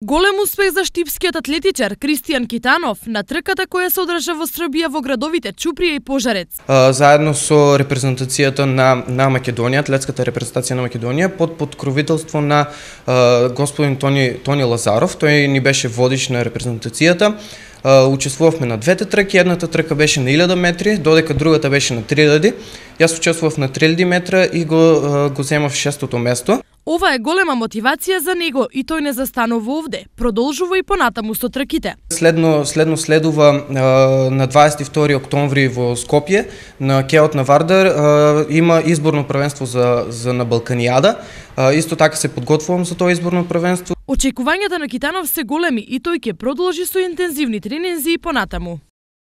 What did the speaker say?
Голем успех за штипскиот атлетичар Кристијан Китанов на трката која се одржа во Србија во градовите Чуприја и Пожарец. Заедно со репрезентацијата на Македонија, атлетската репрезентација на Македонија, под покровителство на господин Тони Лазаров, тој ни беше водич на репрезентацијата. Учествувавме на двете трки, едната трка беше на 1000 метри, додека другата беше на 3000. Јас учествував на 3000 метра и го земав 6-тото место. Ова е голема мотивација за него и тој не застанува овде, продолжува и понатаму со трките. Следува на 22 октомври во Скопје, на Кеот на Вардар, има изборно првенство за на Балканијада. Исто така се подготвувам за тоа изборно првенство. Очекувањата на Китанов се големи и тој ќе продолжи со интензивни тренинзи и понатаму.